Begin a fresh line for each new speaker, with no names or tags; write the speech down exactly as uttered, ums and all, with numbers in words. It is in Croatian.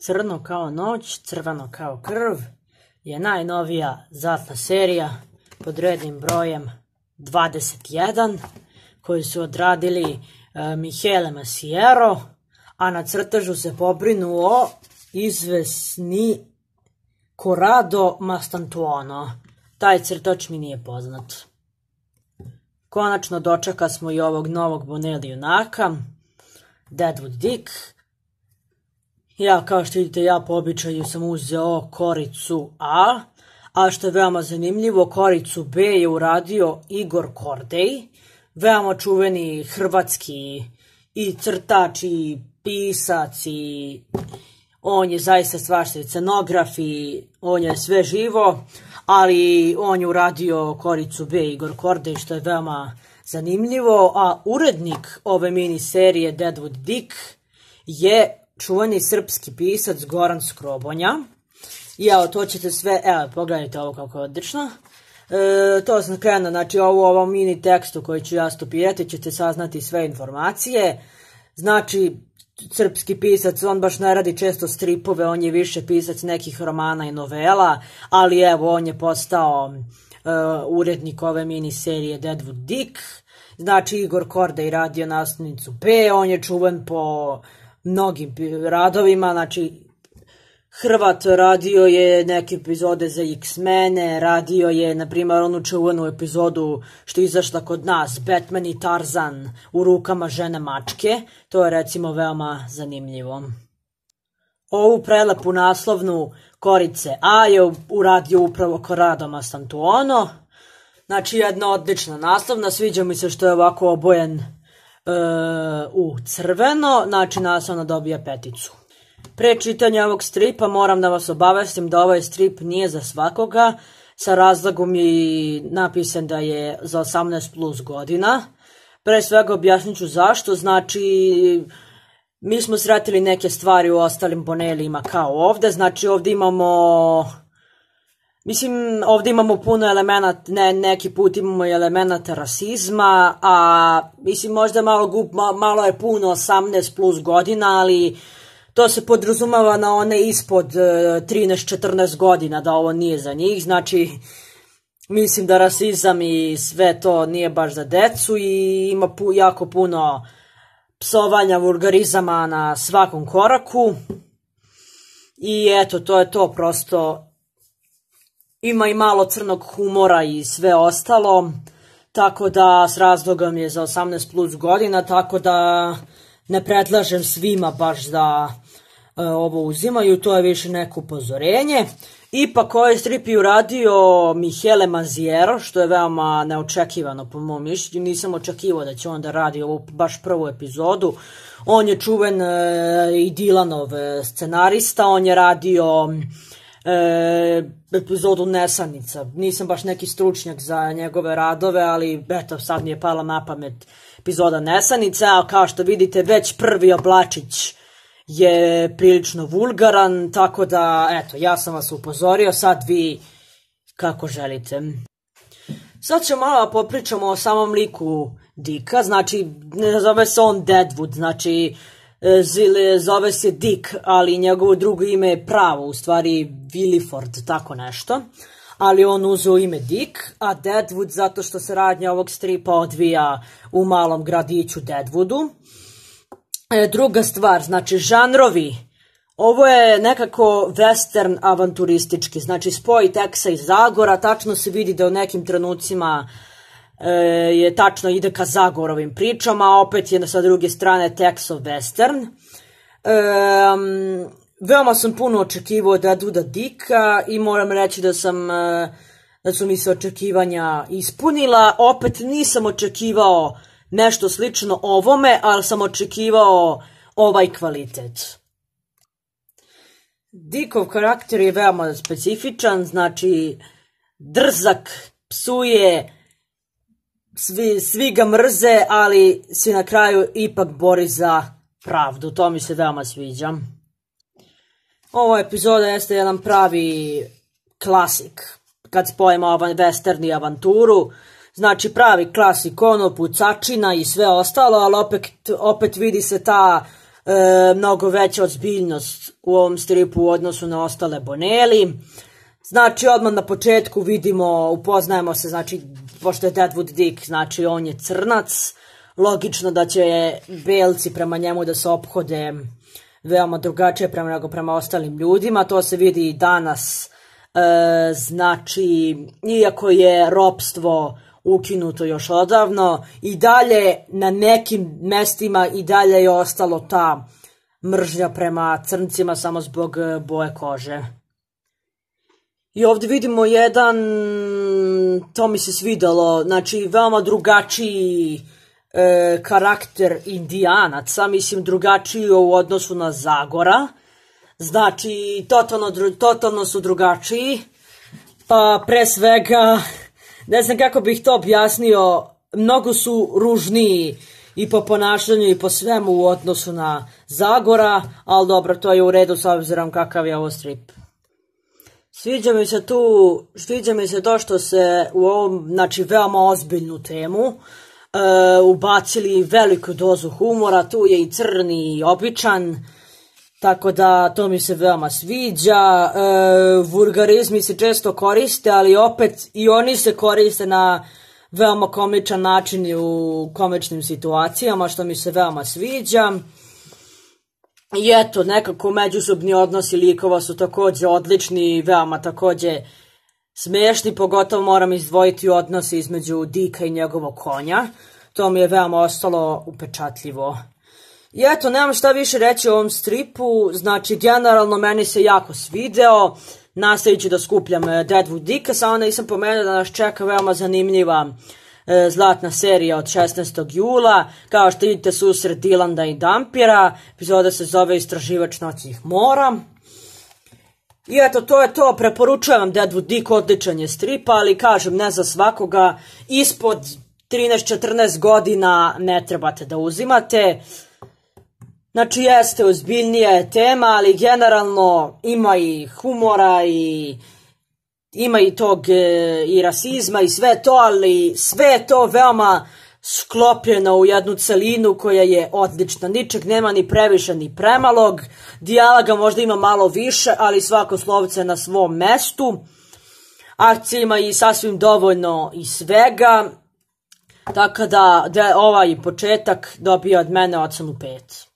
Crno kao noć, crveno kao krv je najnovija zlatna serija pod rednim brojem dvadeset jedan koju su odradili uh, Michele Masiero, a na crtežu se pobrinuo izvesni Corrado Mastantuono. Taj crtač mi nije poznat. Konačno dočeka smo i ovog novog Bonelli junaka, Deadwood Dick. Ja, kao što vidite, ja po običaju sam uzeo koricu A, a što je veoma zanimljivo, koricu B je uradio Igor Kordej, veoma čuveni hrvatski i crtač i pisac i on je zaista svašta scenograf i on je sve živo, ali on je uradio koricu B Igor Kordej, što je veoma zanimljivo, a urednik ove mini serije Deadwood Dick je čuveni srpski pisac Goran Skrobonja. I evo, to ćete sve, evo, pogledajte ovo kako je odlično. E, to sam krenuo, znači ovo, ovo mini tekstu koji ću ja stopirati, ćete saznati sve informacije. Znači, srpski pisac, on baš ne radi često stripove, on je više pisac nekih romana i novela, ali evo, on je postao e, urednik ove mini serije Deadwood Dick. Znači, Igor Kordej radio nastavnicu B, on je čuven po mnogim radovima, znači Hrvat radio je neke epizode za X-mene, radio je, na primjer, onu čuvenu epizodu što je izašla kod nas, Batman i Tarzan u rukama žene mačke, to je recimo veoma zanimljivo. Ovu prelepu naslovnu korice A je uradio upravo Corrado Mastantuono, znači jedna odlična naslovna, sviđa mi se što je ovako obojen Uh, u crveno, znači naslovna dobija peticu. Pre čitanja ovog stripa moram da vas obavestim da ovaj strip nije za svakoga, sa razlogom je napisan da je za osamnaest plus godina. Pre svega objasnit ću zašto, znači mi smo sretili neke stvari u ostalim Bonellijima kao ovde, znači ovde imamo Mislim, ovdje imamo puno elemenata, ne, neki put imamo elemenata rasizma, a mislim možda malo, gup, malo je puno osamnaest plus godina, ali to se podrazumava na one ispod trinaest četrnaest godina, da ovo nije za njih, znači mislim da rasizam i sve to nije baš za decu i ima pu, jako puno psovanja, vulgarizama na svakom koraku i eto, to je to prosto. Ima i malo crnog humora i sve ostalo, tako da s razlogom je za osamnaest plus godina, tako da ne predlažem svima baš da e, ovo uzimaju, to je više neko upozorenje. Ipak ovaj strip je uradio Michele Masiero, što je veoma neočekivano po mom mišljenju, nisam očekivao da će on da radi ovu baš prvu epizodu. On je čuven e, i Dylanov scenarista, on je radio E, epizodu Nesanica. Nisam baš neki stručnjak za njegove radove, ali eto, sad mi je pala na pamet epizoda Nesanica, a kao što vidite već prvi oblačić je prilično vulgaran, tako da eto, ja sam vas upozorio, sad vi kako želite. Sad ćemo malo popričamo o samom liku Dicka, znači ne zove se on Deadwood, znači zove se Dick, ali njegovo drugo ime je pravo, u stvari Williford, tako nešto, ali on uzeo ime Dick, a Deadwood zato što se radnja ovog stripa odvija u malom gradiću Deadwoodu. E, druga stvar, znači žanrovi, ovo je nekako western avanturistički, znači spoj Teksa i Zagora, tačno se vidi da u nekim trenucima je tačno ide ka Zagorovim pričama, a opet je sa druge strane Texov western. Um, veoma sam puno očekivao od Deadwooda Dicka i moram reći da sam da su mi se očekivanja ispunila. Opet nisam očekivao nešto slično ovome, ali sam očekivao ovaj kvalitet. Dickov karakter je veoma specifičan, znači drzak, psuje, Svi, svi ga mrze, ali se na kraju ipak bori za pravdu. To mi se veoma sviđa. Ova epizoda jeste jedan pravi klasik. Kad spojimo western i avanturu. Znači pravi klasik, ono, pucačina i sve ostalo, ali opet, opet vidi se ta e, mnogo veća ozbiljnost u ovom stripu u odnosu na ostale Bonelli. Znači, odmah na početku vidimo, upoznajemo se, znači, pošto je Deadwood Dick, znači, on je crnac, logično da će belci prema njemu da se ophode veoma drugačije prema nego prema ostalim ljudima, to se vidi i danas, e, znači, iako je ropstvo ukinuto još odavno, i dalje na nekim mestima i dalje je ostalo ta mržnja prema crncima samo zbog boje kože. I ovdje vidimo jedan, to mi se svidalo, znači veoma drugačiji e, karakter Indijanaca, mislim drugačiji u odnosu na Zagora, znači totalno, totalno su drugačiji, pa pre svega, ne znam kako bih to objasnio, mnogo su ružniji i po ponašanju i po svemu u odnosu na Zagora, ali dobro, to je u redu s obzirom kakav je ovo strip. Sviđa mi se tu, sviđa mi se to što se u ovom, znači, veoma ozbiljnu temu e, ubacili veliku dozu humora, tu je i crni i običan, tako da to mi se veoma sviđa. E, vulgarizmi se često koriste, ali opet i oni se koriste na veoma komičan način i u komičnim situacijama, što mi se veoma sviđa. I eto, nekako međusobni odnosi likova su također odlični i veoma također smiješni, pogotovo moram izdvojiti odnose između Dicka i njegovog konja. To mi je veoma ostalo upečatljivo. I eto, nemam šta više reći o ovom stripu, znači generalno meni se jako svideo, nastavit ću da skupljam Deadwood Dicka, samo nisam pomenuo da nas čeka veoma zanimljiva e, zlatna serija od šesnaestog jula, kao što vidite susret Dilanda i Dampira, epizoda se zove Istraživač noćnih mora. I eto, to je to, preporučujem vam Deadwood Dick, odličan je strip, ali kažem, ne za svakoga, ispod trinaest četrnaest godina ne trebate da uzimate. Znači, jeste ozbiljnija tema, ali generalno ima i humora i ima i tog e, i rasizma i sve to, ali sve je to veoma sklopljeno u jednu celinu koja je odlična. Ničeg nema ni previše ni premalog, dijaloga možda ima malo više, ali svako slovce na svom mestu. Akcija ima i sasvim dovoljno i svega, tako da, da ovaj početak dobija od mene ocenu pet.